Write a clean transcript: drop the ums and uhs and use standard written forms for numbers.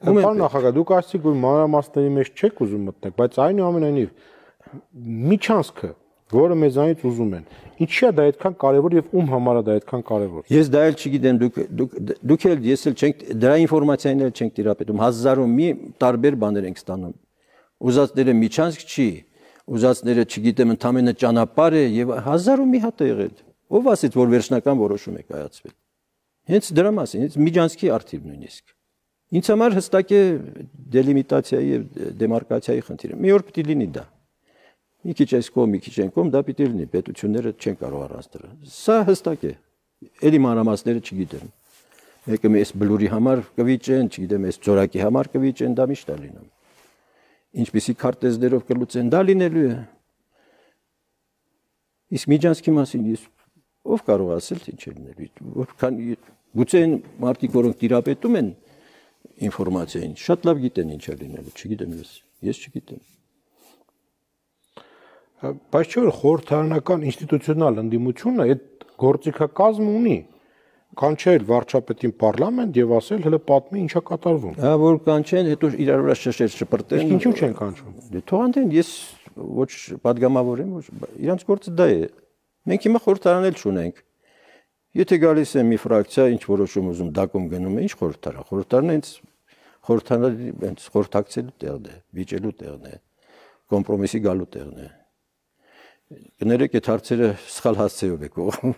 Պարոն նախագահ, դուք ասացիք, որ մանրամասների մեջ չեք ուզում մտնեք, բայց այնուամենայնիվ միջանցքը, որը մեզանից ուզում են, ինչի է դա այդքան կարևոր եւ ում համար է դա այդքան կարևոր։ Ես դա էլ չգիտեմ, դուք էլ ես էլ չենք դրա ինֆորմացիան էլ չենք տիրապետում, հազարում մի տարբեր բաներ ենք ստանում։ Ուզածները միջանցք չի, ուզածները չգիտեմ ընդամենը ճանապարհ է եւ հազարում մի հատ է եղել։ Ով ասեց, որ վերջնական որոշում է կայացվել։ Հենց դրա մասին, հենց միջանցքի արդիվ նույնիսկ։ Ինձ համար հստակ է դելիմիտացիայի եւ դեմարկացիայի խնդիրը։ Մի օր պիտի լինի դա։ Մի քիչ այս կողմ, մի քիչ այն կողմ, դա պիտի լինի, պետությունները չեն կարող առանց դրա։ Սա հստակ է։ Էլի մանրամասները չգիտեմ։ Մեկը այս բլուրի համար կվիճեն, չգիտեմ, այս ծորակի համար կվիճեն, դա միշտ է լինում։ Ինչպիսի քարտեզներով կլուծեն, դա լինելու է։ Իսկ միջանցքի մասին ես ով կարող ասել թե ինչ է լինելու։ Որքան գուցե այն մարդիկ, որոնք տիրապետում են ինֆորմացիային, շատ լավ գիտեն ինչ է լինելու, չգիտեմ ես չգիտեմ։ Բայց չէ՞ որ խորհրդարանական ինստիտուցիոնալ ընդդիմությունը այդ գործիքակազմ ունի կանչել վարչապետին պարլամենտ եւ ասել հələ պատմի ինչա կատարվում։ Հա որ կանչեն, հետո իրար վրա շշեր շպրտեն։ Իսկ ինչու չեն կանչում։ Դե թողանեն, ես ոչ падգամավոր եմ, ոչ իրանց գործը դա է։ Մենք հիմա խորհրդարան էլ չունենք։ Եթե գալիս է մի ֆրակցիա, ինչ որոշում ուզում դակում գնում է, ինչ խորհրդարան։ Խորհրդարանը հենց խորհրդակցելու տեղն է, վիճելու տեղն է, կոմպրոմիսի գալու տեղն է։ Կներեք, այդ հարցերը սխալ հասցեով եք ուղղում։